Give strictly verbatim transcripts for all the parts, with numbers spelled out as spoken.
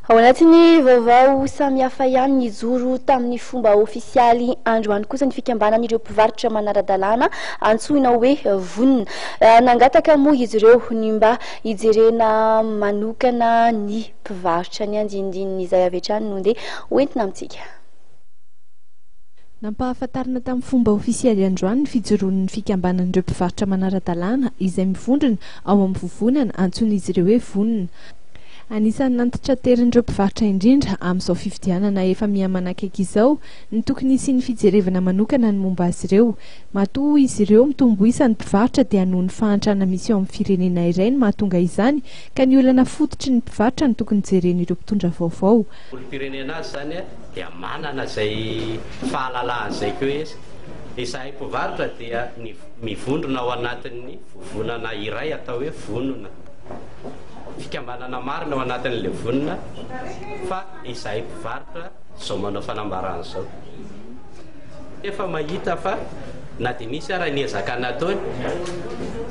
Ao anatin'ny vaovao samihafa ihany, nijoro tamin'ny fomba ofisialy androany kosa ny fikambanan'ireo mpivarotra manara-dalàna antsoina hoe Vonona. Nangataka moa izy ireo ny mba hijerena manokana ny mpivarotra. Ny andinindininy izay avy hatrany no ndeha hoentina amintsika. Nampahafantarina tamin'ny fomba ofisialy androany ny fijoroan'ny fikambanan'ireo mpivarotra manara-dalàna izay mivondrona ao amin'ny vovonana antsoin'izy ireo hoe Vonona. Anisan'ny nantitraterin'ireo mpivarotra indrindra amin'izao fifidianana efa miha-manakaiky izao ny tokony hisian'ny fijerevana manokana ny momba azy ireo. Matoa izy ireo mitombo isa ny mpivarotra dia noho ny fahantrana misy eo amin'ny firenena iray no mahatonga izany, ka ny olana fototry ny mpivarotra no tokony jeren'ireo mpitondra vaovao. Olom-pirenena azy zany dia manana izay fahalalahana izay koa izy. Izahay mpivarotra dia ny mivondrona ao anatin'ny vovonana iray atao hoe Vonona, fikambanana marina ao anatin'le Vonona, fa izahay mpivarotra zao manao fanambarana zao efa mahita fa na dia misy ara ny ezaka nataony,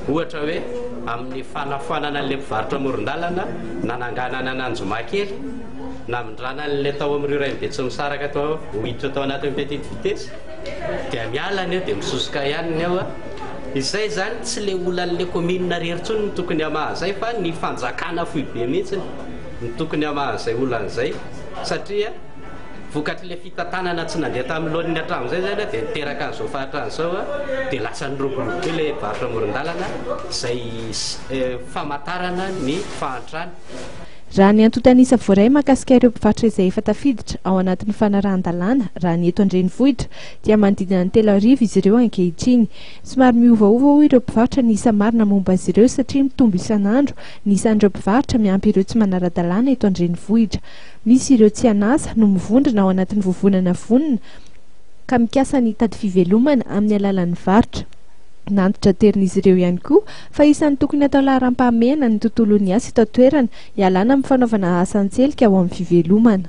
ohatra hoe amin'ny fanafoanana an'le mpivarotra moron-dalana, nananganana an'Anjomakely, namindrana an'le tao amin'ireo ray be tsy misaraka tao miditra tao anatin'ny Petite Vitesse, dia miala ny eo dia misosoka ihany ny ao a. Izay zany tsy le olan'le commune rery ntsony ny tokony hamaha zay, fa ny fanjakana foibe mihitsy ny tokony hamaha zay olan'izay, satria vokatry le fitantanana tsy nandeha tamin'ny laoniny hatramin'izay zany dia niteraka an'izao fahatran'izao a, dia lasa niroborobo be le varotra moron-dalana zay famantarana ny fahantrana. Raha ny antontanisa voaray mahakasika ireo mpivarotra izay efa tafiditra ao anatin'ny fanarahan-dalàna raha ny eto an-drenivohitra dia manodidina ny telo arivo izy ireo ankehitriny. Somary miovaova hoy ireo mpivarotra ny isa marina momba azy ireo, satria mitombo isan'andro ny isan'ireo mpivarotra miampy ireo tsy manara-dalàna eto an-drenivohitra. Misy ireo tsy an'asa no mivondrona ao anatin'ny vovonana Vonona ka mikasa ny tady fivelomana amin'ny alalan'ny varotra. Nantitraterin'izy ireo ihany koa fa isan'ny tokony atao laharam-pahamehana ny tontolon'ny asa eto an-toerana hialana amin'ny fanaovana asa an-tselika ao amin'ny fivelomana.